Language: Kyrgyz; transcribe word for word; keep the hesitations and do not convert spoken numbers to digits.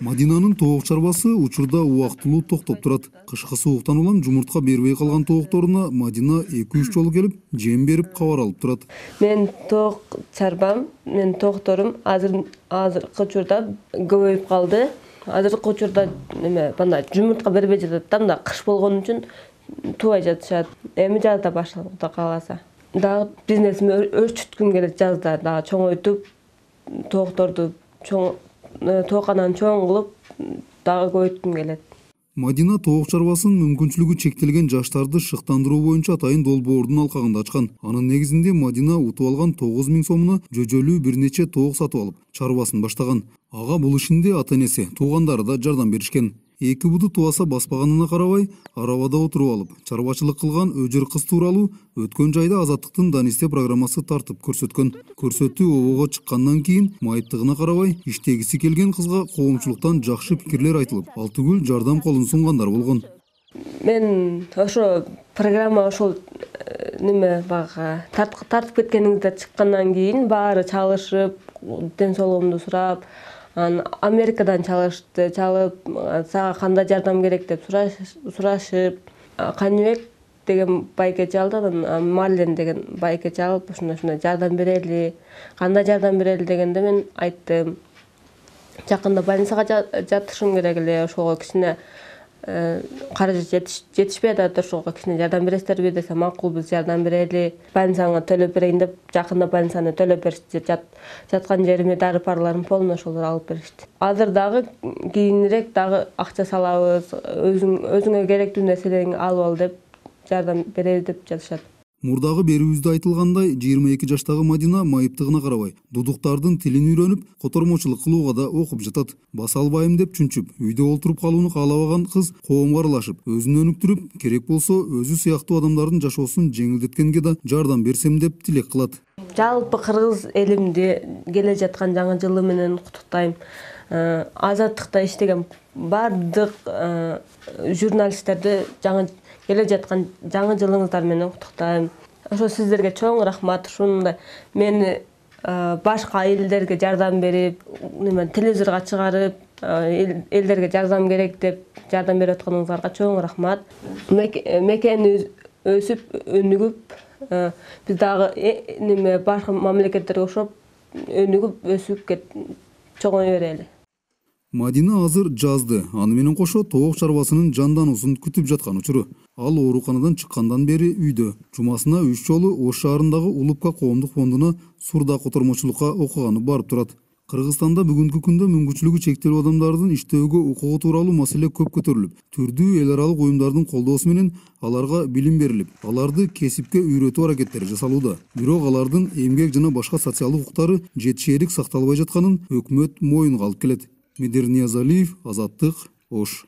Мадинанын тоок чарбасы учурда убактылуу токтоп турат. Кышкы сууктан улам жумуртка бербей калган тоокторуна Мадина эки үч жолу келип, жем берип кабар алып турат. Мен тоок чарбам, мен тоокторум азыр азыркы учурда көбөйүп калды. Азыркы учурда неме бана жумуртка бербей жатат да, мында кыш болгон үчүн тубай жатышат. Эми жазда башталып Кудай кааласа. Дагы бизнесимди өрчүткүм келет жазда, дагы чоңойтуп, тоокторду чоң тоокананы чоң кылып, дагы көбөйткүм келет. Мадина тоок чарбасын мүмкүнчүлүгү чектелген жаштарды шыктандыруу боюнча атайын долбоордун алкагында ачкан. Анын негизинде Мадина утуп алган тогуз миң сомуна жөжөлүү бир нече тоок сатып алып, чарбасын баштаган. Ага бул ишинде ата-энеси, туугандары да жардам беришкен. Эки буду тубаса баспаганына карабай, арабада отуруп алып, чарбачылык кылган өжөр кыз тууралуу өткөн жайда Азаттыктын Данисте программасы тартып көрсөткөн. Көрсөтүү обого чыккандан кийин майыптыгына карабай, иштегиси келген кызга коомчулуктан жакшы пикирлер айтылып, ал түгүл жардам колун сунгандар болгон. Мен ошо программа ошол неме бага тартып кеткениңизде чыккандан кийин баары чалышып, ден соолугумду сурап, Америкадан чалышты, чалып, сага кандай жардам керек деп сурашып, Каныбек деген байкечи алды, анан Марлен деген байкечи алып, ушундай ушундай жардам берели, кандай жардам берели дегенде мен айттым. Жакында больницага жатышым керек эле, ошого кичине каражат жетишпей атат, ошого кичине жардам бересиздерби десе, макул, биз жардам берели. Больницаңа төлөп берейин деп, жакында больницаны төлөп беришти. Жаткан жериме дары парларым полный ошолор алып беришти. Азыр дагы кийинирээк дагы акча салабыз, өзүң өзүңө керектүү нерселерин алып ал деп жардам беребиз деп жатышат. Мурдагы берүүбүздө айтылгандай, жыйырма эки жаштагы Мадина майыптыгына карабай, дудуктардын тилин үйрөнүп, котормочулук кылууга да окуп жатат. Баса албайм деп чүнчүп, үйдө олтуруп калууну каалабаган кыз коомго аралашып, өзүн өнүктүрүп, керек болсо өзү сыяктуу адамдардын жашоосун жеңилдеткенге да жардам берсем деп тилек кылат. Жалпы кыргыз элимди келе жаткан жаңы жылы менен куттуктайм. Азаттыкта иштеген бардык журналисттерди жаңы келе жаткан жаңы жылыңыздар менен куттуктайм. Ошо сиздерге чоң рахмат. Ушундай мени башка элдерге жардам берип, неме телевизорго чыгарып, элдерге жардам керек деп жардам берип атканыңыздарга чоң рахмат. Мекени өсүп, өнүгүп, биз дагы неме башка мамлекеттерге окшоп өнүгүп, өсүп чоңой берели. Мадина азыр жазды, аны менен кошо тоок чарбасынын жандануусун күтүп жаткан учуру. Ал ооруканадан чыккандан бери үйдө. Жумасына үч жолу Ош шаарындагы Улупка коомдук фондуна сурда котормочулукка окуганы барып турат. Кыргызстанда бүгүнкү күндө мүмкүнчүлүгү чектелүү адамдардын иштөөгө укугу тууралуу маселе көп көтөрүлүп, түрдүү эл аралык уюмдардын колдоосу менен аларга билим берилип, аларды кесипке үйрөтүү аракеттери жасалууда. Бирок алардын эмгек жана башка социалдык укуктары жетишээрлик сакталбай жатканын өкмөт моюнга алып келет. Медер Ниязалиев, Азаттык, Ош.